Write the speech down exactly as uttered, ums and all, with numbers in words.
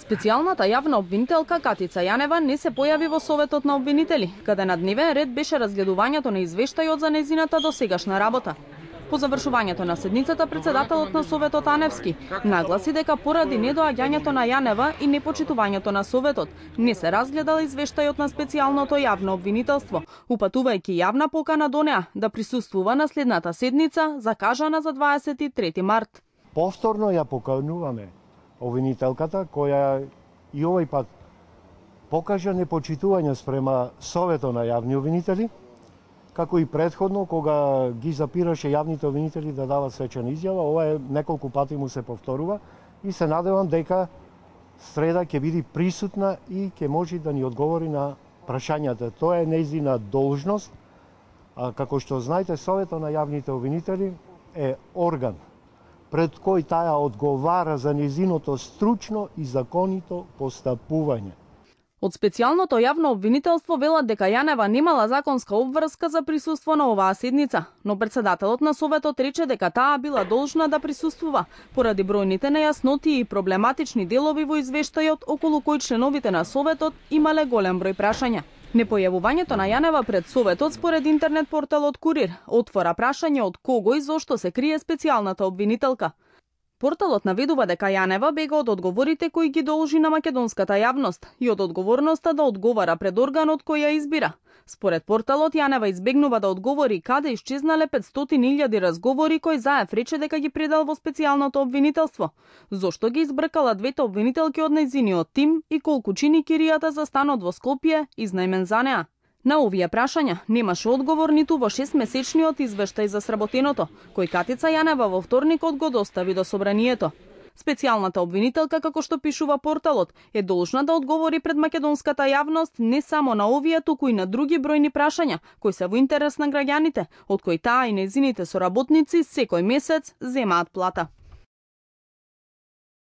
Специјалната јавна обвинителка Катица Јанева не се појави во Советот на обвинители, каде на дневен ред беше разгледувањето на извештајот за нејзината досегашна работа. По завршувањето на седницата, председателот на Советот Аневски нагласи дека поради недоаѓањето на Јанева и непочитувањето на Советот не се разгледал извештајот на специјалното јавно обвинителство, упатувајќи јавна покана до неа да присуствува на следната седница, закажана за дваесет и трети март. Повторно ја покануваме обвинителката, која и овој пат покажа непочитување спрема Советот на јавни обвинители, како и предходно, кога ги запираше јавните обвинители да дават свечена изјава. Ова е неколку пати му се повторува и се надевам дека среда ќе биде присутна и ќе може да ни одговори на прашањата. Тоа е нејзина должност, а како што знаете, Советот на јавните обвинители е орган пред кој таа одговара за нејзиното стручно и законито постапување. Од специјалното јавно обвинителство велат дека Јанева немала законска обврска за присуство на оваа седница, но председателот на Советот рече дека таа била должна да присуствува поради бројните нејасноти и проблематични делови во извештајот околу кој членовите на Советот имале голем број прашања. Непојавувањето на Јанева пред Советот според интернет порталот Курир отвора прашање од кого и зошто се крие специјалната обвинителка. Порталот наведува дека Јанева бега од одговорите кои ги должи на македонската јавност и од одговорноста да одговара пред органот кој ја избира. Според порталот, Јанева избегнува да одговори каде исчезнале петстотини илјади разговори кои Заев рече дека ги предал во специјалното обвинителство. Зошто ги избркала двете обвинителки од нејзиниот тим и колку чини киријата за станот во Скопје изнајмен за неа. На овие прашања немаше одговор ниту во шестмесечниот извештај за сработеното, кој Катица Јанева во вторникот го достави до собранието. Специјалната обвинителка, како што пишува порталот, е должна да одговори пред македонската јавност не само на овие, туку и на други бројни прашања, кои се во интерес на граѓаните, од кои таа и нејзините соработници секој месец земаат плата.